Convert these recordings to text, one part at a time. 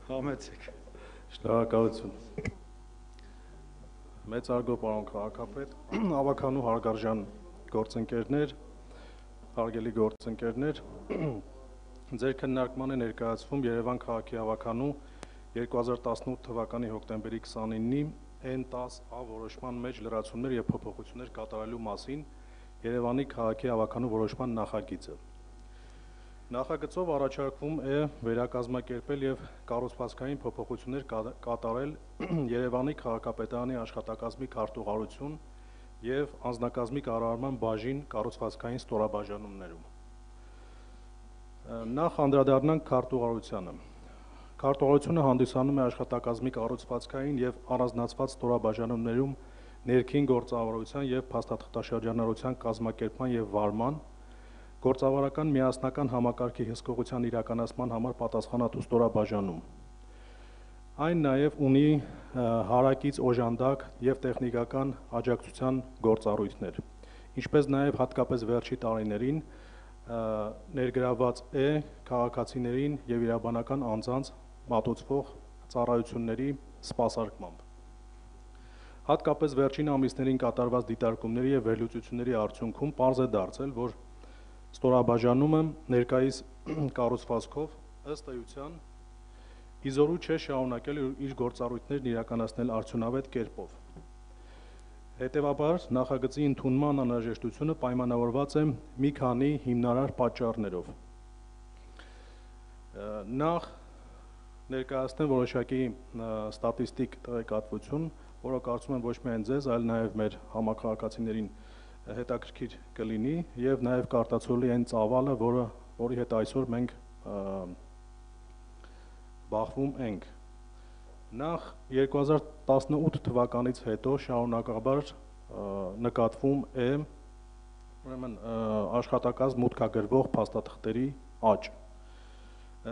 Համեցեք։ Շնորհակալություն։ Մեծարգո պարոն քաղաքապետ, ավականու հարգարժան գործընկերներ, հարգելի գործընկերներ, ձեր քննարկման է ներկայացվում Երևան քաղաքի ավականու 2018 թվականի հոկտեմբերի 29-ի N10A որոշման մեջ լրացումներ եւ փոփոխություններ կատարելու մասին Երևանի քաղաքի ավականու որոշման նախագիծը։ Նախագծով առաջարկվում է վերակազմակերպել եւ կառուցվածքային փոփոխություններ կատարել Երևանի քաղաքապետարանի աշխատակազմի քարտուղարություն եւ անձնակազմի կառավարման բաժին կառուցվածքային ստորաբաժանումներում։ Նախ անդրադառնանք քարտուղարությանը։ Քարտուղարությունը հանդիսանում է աշխատակազմի կառուցվածքային եւ առանձնացված ստորաբաժանումներում ներքին գործառույթության եւ փաստաթղթաշրջանառության կազմակերպման եւ վարման գործավարական միասնական համակարգի հսկողության իրականացման համար պատասխանատու ստորաբաժանում։ Այն նաև ունի հարակից օժանդակ եւ տեխնիկական աջակցության գործառույթներ, ինչպես նաև հատկապես վերջի տարիներին ներգրավված է քաղաքացիներին եւ իրավաբանական անձանց մատուցվող ծառայությունների սպասարկմամբ։ Հատկապես վերջին ամիսներին կատարված դիտարկումների եւ վերլուծությունների արդյունքում պարզ է դարձել, որ ստորաբաժանումը ներկայիս կառուցվածքով ըստ էության իզորու չէ շարունակել իր գործառույթներն իրականացնել արդյունավետ կերպով։ Հետևաբար նախագծի ընդունման անհրաժեշտությունը պայմանավորված է մի քանի հիմնարար պատճառներով։ Նախ ներկայացնեմ որոշակի ստատիստիկ տեղեկատվություն, որը կարծում եմ ոչ միայն ձեզ, այլ նաև մեր համաքաղաքացիներին հետաքրքիր կլինի եւ նաեւ կարտացոլի այն ծավալը, որի հետ այսօր մենք բախվում ենք։ Նախ 2018 թվականից հետո շարունակաբար նկատվում է ուրեմն աշխատակազմ մուտքագրվող փաստաթղթերի աճ։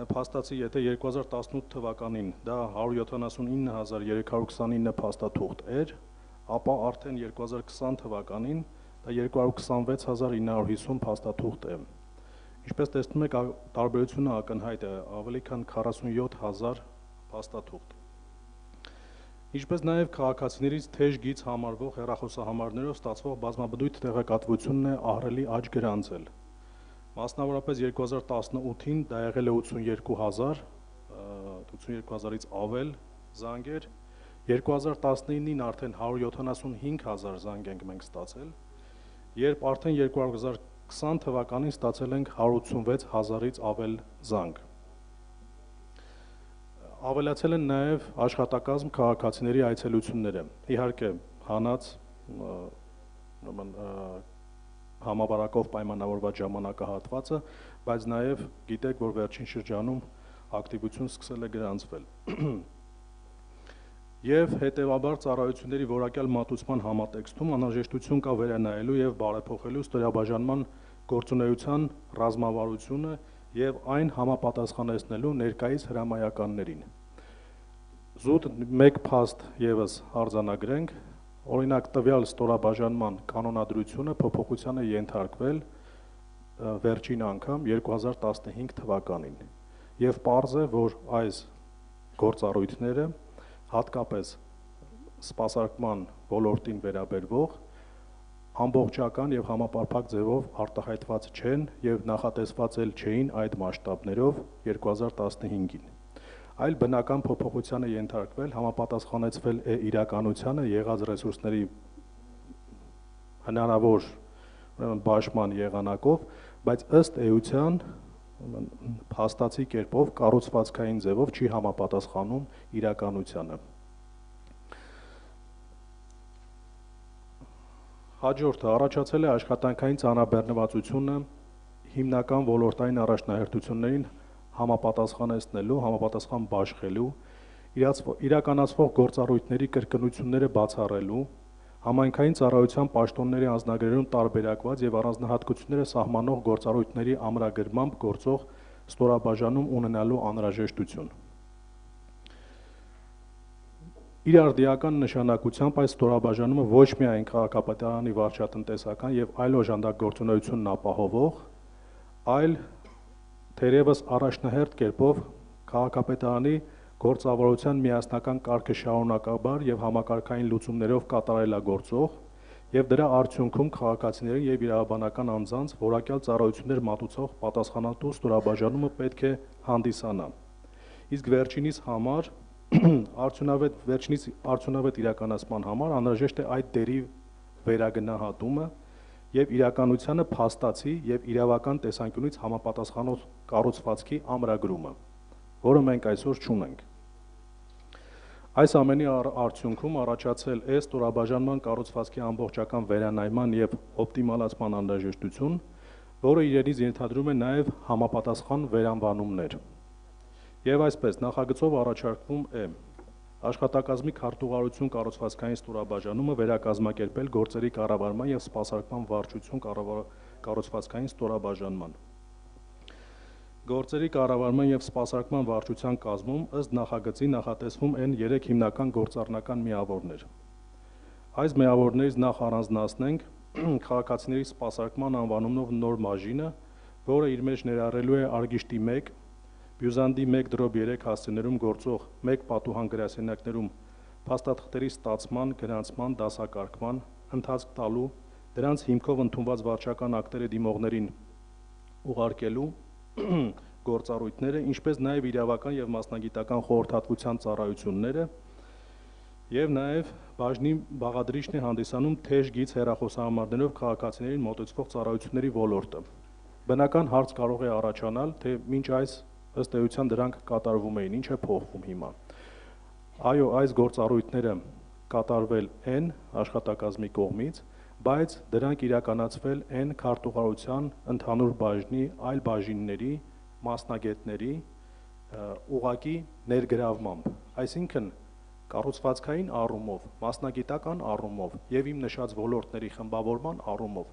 Փաստացի, եթե 2018 թվականին դա 179329 փաստաթուղթ էր, ապա արդեն 2020 թվականին դա 226950 փաստաթուղթ է։ Ինչպես տեսնում եք, տարբերությունը ակնհայտ է, ավելի քան 47000 փաստաթուղթ։ Ինչպես նաև քաղաքացիներից թեժ գիծ համարվող հեռախոսահամարներով ստացվող բազմաբնույթ տեղեկատվությունն է ահռելի աճ գրանցել։ Մասնավորապես 2018-ին դա եղել է 82000-ից ավել զանգեր, 2019-ին արդեն 175000 զանգ ենք մենք ստացել, երբ արդեն 2020 թվականին ստացել ենք 186000-ից ավել զանգ։ Ավելացել են նաև աշխատակազմ քաղաքացիների այցելությունները։ Իհարկե, հանած համավարակով պայմանավորված ժամանակահատվածը, բայց նաև գիտեք, որ վերջին շրջանում ակտիվություն սկսել է գրանցվել։ Եվ հետևաբար ծառայությունների որակյալ մատուցման համատեքստում անհրաժեշտություն կա վերանայելու եւ բարեփոխելու ստորաբաժանման գործունեության ռազմավարությունը եւ այն համապատասխանեցնելու ներկայիս հրամայականներին։ Զուտ մեկ փաստ եւս արձանագրենք, օրինակ տվյալ ստորաբաժանման կանոնադրությունը փոփոխության է ենթարկվել վերջին անգամ 2015 թվականին եւ պարզ է, որ այս գործառույթները հատկապես սպասարկման ոլորտին վերաբերվող ամբողջական եւ համապարփակ ձևով արտահայտված չեն եւ նախատեսված էլ չէին այդ մասշտաբներով 2015-ին։ Այլ բնական փոփոխության է ենթարկվել, համապատասխանեցվել է իրականությանը եղած ռեսուրսների հնարավոր բաշխման եղանակով, բայց ըստ էության փաստացի կերպով կառուցվածքային ձևով չի համապատասխանում իրականությանը։ Հաջորդը առաջացել է աշխատանքային ծանրաբեռնվածությունը հիմնական ոլորտային առաջնահերթություններին համապատասխանեցնելու, համապատասխան բաշխելու, իրականացվող գործառույթների կրկնությունները բացառելու, համայնքային ծառայության պաշտոնների անձնագրերում տարբերակված եւ առանձնահատկությունները սահմանող գործառույթների ամրագրմամբ գործող ստորաբաժանում ունենալու անհրաժեշտություն։ Իր արդիական նշանակությամբ այս ստորաբաժանումը ոչ միայն քաղաքապետարանի վարչատնտեսական եւ այլ օժանդակ գործունեությունն ապահովող, այլ թերևս առաջնահերթ կերպով քաղաքապետարանի գործավարության միասնական կարգը շարունակաբար եւ համակարգային լուծումներով կատարելագործող եւ դրա արդյունքում քաղաքացիների եւ իրավաբանական անձանց որակյալ ծառայություններ մատուցող պատասխանատու ստորաբաժանումը պետք է հանդիսանա։ Իսկ վերջինիս արդյունավետ իրականացման համար անհրաժեշտ է այդ դերի վերագնահատումը եւ իրականությանը փաստացի եւ իրավական տեսանկյունից համապատասխանող կառուցվածքի ամրագրումը, որը մենք այսօր չունենք։ Այս ամենի արդյունքում առաջացել է ստորաբաժանման կառուցվածքի ամբողջական վերանայման եւ օպտիմալացման անհրաժեշտություն, որը իրենից ենթադրում է նաեւ համապատասխան վերանվանումներ։ Եվ այսպես նախագծով առաջարկվում է աշխատակազմի քարտուղարություն կառուցվածքային ստորաբաժանումը վերակազմակերպել գործերի կառավարման եւ սպասարկման վարչություն կառուցվածքային ստորաբաժանման։ Գործերի կառավարման եւ սպասարկման վարչության կազմում ըստ նախագծի նախատեսվում են 3 հիմնական գործառնական միավորներ։ Այս միավորներից նախ առանձնացնենք քաղաքացիների սպասարկման անվանումով նոր բաժինը, որը իր մեջ ներառելու է արգիշտի 1, բյուզանդի 1/3 հասցեներում գործող 1 պատուհան գրասենյակներում փաստաթղթերի ստացման, գրանցման, դասակարգման, ընթացք տալու, դրանց հիմքով ընդունված վարչական ակտերը դիմողներին ուղարկելու գործառույթները, ինչպես նաև իրավական եւ մասնագիտական խորհրդատվության ծառայությունները, եւ նաև բաժնի բաղադրիչն է հանդիսանում թեժ գիծ հեռախոսահամարներով քաղաքացիներին մոտեցվող ծառայությունների ոլորտը։ Բնական հարց կարող է առաջանալ, թե մինչ այս ըստ էության դրանք կատարվում էին, ինչ է փոխվում հիմա։ Այո, այս գործառույթները կատարվել են աշխատակազմի կողմից, բայց դրանք իրականացվել են քարտուղարության ընդհանուր բաժնի այլ բաժինների, մասնագետների ուղղակի ներգրավմամբ, այսինքն կառուցվածքային առումով, մասնագիտական առումով եւ իմ նշած ոլորտների խմբավորման առումով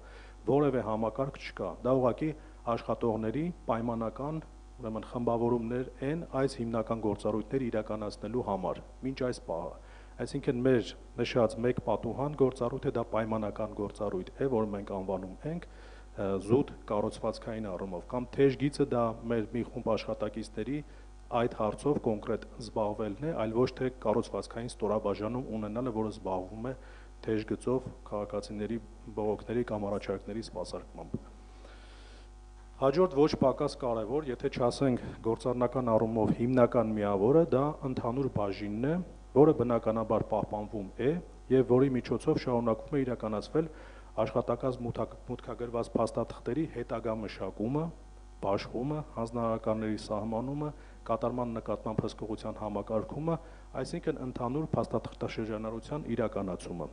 որևէ համակարգ չկա, դա ուղղակի աշխատողների պայմանական, ուրեմն խմբավորումներ են այս հիմնական գործառույթները իրականացնելու համար, մինչ այս պահը։ Այսինքն մեր նշած մեկ պատուհան գործառույթը դա պայմանական գործառույթ է, որ մենք անվանում ենք զուտ կառուցվածքային առումով, կամ թեժ գիծը դա մեր մի խումբ աշխատակիցների այդ հարցով կոնկրետ զբաղվելն է, այլ ոչ թե կառուցվածքային ստորաբաժանում ունենալը, որը զբաղվում է թեժ գծով քաղաքացիների բողոքների կամ առաջարկների սպասարկմամբ։ Հաջորդ ոչ պակաս կարևոր, եթե չասենք գործառնական առումով հիմնական միավորը, դա ընդհանուր բաժինն է, որը բնականաբար պահպանվում է եւ որի միջոցով շարունակվում է իրականացվել աշխատակազմ մուտքագրված փաստաթղթերի հետագա մշակումը, բաշխումը, հանձնարարականների սահմանումը, կատարման նկատմամբ հսկողության համակարգումը, այսինքն ընդհանուր փաստաթղթաշրջանառության իրականացումը։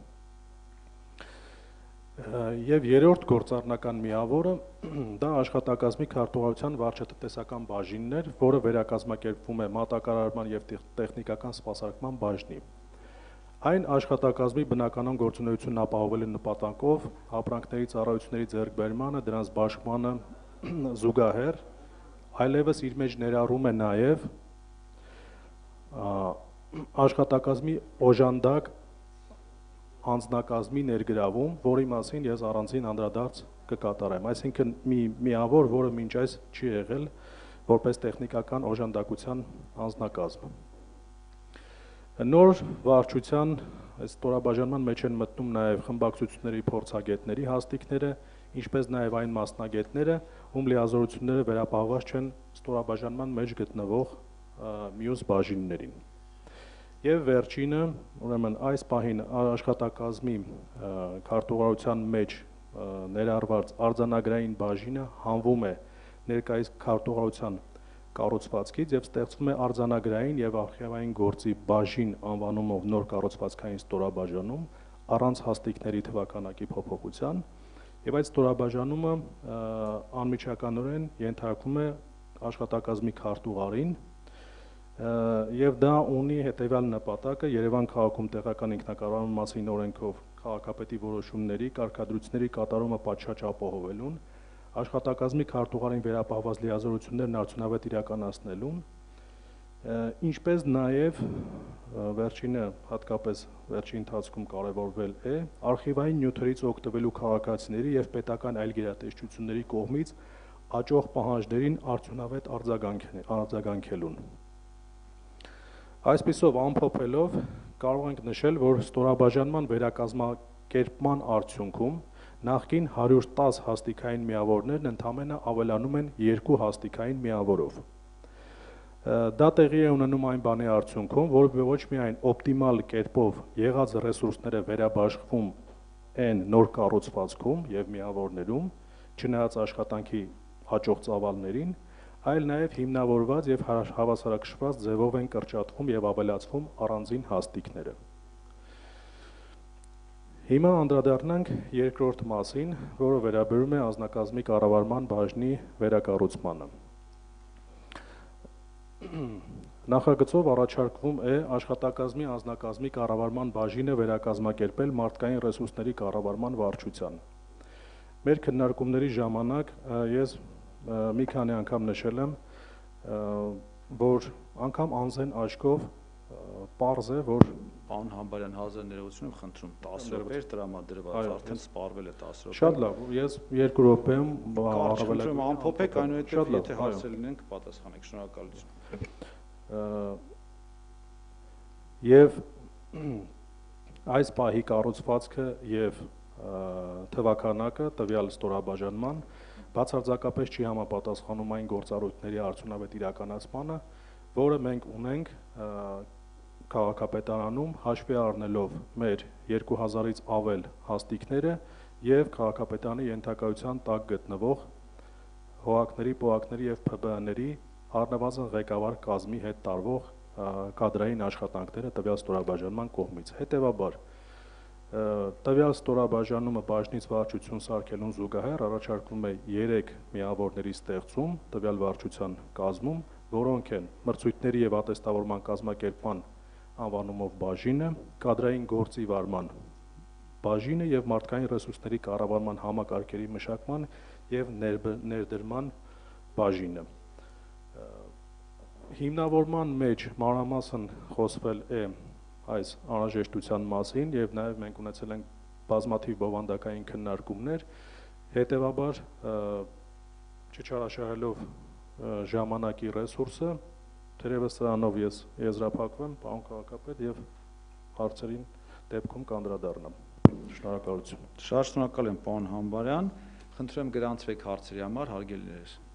Եվ երրորդ գործառնական միավորը դա աշխատակազմի քարտուղարության վարչատնտեսական բաժինն էր, որը վերակազմակերպվում է մատակարարման եւ տեխնիկական սպասարկման բաժնի։ Այն աշխատակազմի բնականon գործունեությունն ապահովելու նպատակով ապրանքների ծառայությունների ձեռքբերմանը, դրանց բաշխմանը զուգահեռ այլևս իր մեջ ներառում է նաեւ աշխատակազմի օժանդակ անձնակազմի ներգրավում, որի մասին ես առանձին անդրադարձ կկատարեմ, այսինքն մի միավոր, որը մինչ այս չի եղել որպես տեխնիկական օժանդակության անձնակազմ։ Նոր վարչության ստորաբաժանման մեջ են մտնում նաև խմբակցությունների փորձագետների հաստիքները, ինչպես նաև այն մասնագետները, ում լիազորությունները վերապահված չեն ստորաբաժանման մեջ գտնվող մյուս բաժիններին։ Եվ վերջինը, ուրեմն այս պահին աշխատակազմի քարտուղարության մեջ ներառված արձանագրային բաժինը հանվում է ներկայիս քարտուղարության կառուցվածքից եւ ստեղծվում է արձանագրային եւ արխիվային գործի բաժին անվանումով նոր կառուցվածքային ստորաբաժանում առանց հաստիքների թվականակի փոփոխության եւ այդ ստորաբաժանումը անմիջականորեն ենթարկվում է աշխատակազմի քարտուղարին եւ դա ունի հետեւյալ նպատակը Երևան քաղաքում տեղական ինքնակառավարման մասին օրենքով քաղաքապետի որոշումների կարգադրությունների կատարումը պատշաճ ապահովելուն, աշխատակազմի քարտուղարին վերապահված լիազորություններն արդյունավետ իրականացնելուն, ինչպես նաեւ վերջինը հատկապես վերջին ընթացքում կարևորվել է արխիվային նյութերից օգտվելու քաղաքացիների եւ պետական այլ գերատեսչությունների կողմից աճող պահանջներին արդյունավետ արձագանքելուն։ Այսպիսով ամփոփելով կարող ենք նշել, որ ստորաբաժանման վերակազմակերպման արդյունքում նախկին 110 հաստիկային միավորներն ընդամենը ավելանում են 2 հաստիկային միավորով։ Դա տեղի է ունենում այն բանի արդյունքում, որ ոչ միայն օպտիմալ կերպով եղած ռեսուրսները վերաբաշխվում են նոր կառուցվածքում եւ միավորներում, չնայած աշխատանքի հաջող ծավալներին, այլ նաև հիմնավորված եւ հավասարակշռված ձևով են կրճատվում եւ ավելացվում առանձին հաստիկները։ Հիմա անդրադառնանք երկրորդ մասին, որը վերաբերում է անձնակազմի կառավարման բաժնի վերակառուցմանը։ Նախագծով առաջարկվում է աշխատակազմի անձնակազմի կառավարման բաժինը վերակազմակերպել մարդկային ռեսուրսների կառավարման վարչության։ Մեր քննարկումների ժամանակ ես մի քանի անգամ նշել եմ, որ անգամ անձեն աչքով պարզ է, որ Պարոն Համբարյան, հազար ներողություն եմ խնդրում, 10 րոպե տրամադրված, արդեն սպառվել է 10 րոպե։ Շատ լավ, ես 2 րոպեում առավելագույն ամփոփեք, այնուհետև եթե հարցեր լինեն կպատասխանեք, շնորհակալություն։ Եվ այս պահի կառուցվածքը եւ թվականակը տվյալ ստորաբաժանման բացարձակապես չի համապատասխանում այն գործառույթների արդյունավետ իրականացմանը, որը մենք ունենք քաղաքապետարանում, հաշվի առնելով մեր 2000-ից ավել հաստիկները եւ քաղաքապետարանի ենթակայության տակ գտնվող ՀՕԱԿ-ների, ՊՕԱԿ-ների եւ ՓԲԸ-ների առնվազն ղեկավար կազմի հետ տարվող կադրային աշխատանքները տվյալ ստորաբաժանման կողմից։ Հետևաբար տվյալ ստորաբաժանումը բաժնից վարչություն սարքելուն զուգահեռ առաջարկվում է 3 միավորների ստեղծում տվյալ վարչության կազմում, որոնք են մրցույթների եւ ատեստավորման կազմակերպման անվանումով բաժինը, կադրային գործի վարման բաժինը եւ մարդկային ռեսուրսների կառավարման համակարգերի մշակման եւ ներդրման բաժինը։ Հիմնավորման մեջ մանրամասն խոսվել է այս անհրաժեշտության մասին եւ նաեւ մենք ունեցել ենք բազմաթիվ բովանդակային քննարկումներ, հետեւաբար չչարաշահելով ժամանակի ռեսուրսը, թերևս սրանով ես եզրափակվեմ, պարոն քաղաքապետ, եւ հարցերին դեպքում կանդրադառնամ։ Շնորհակալություն։ Շատ շնորհակալ եմ, պարոն Համբարյան, խնդրեմ գրանցվեք հարցերի համար, հարգելի ներկայացուցիչ։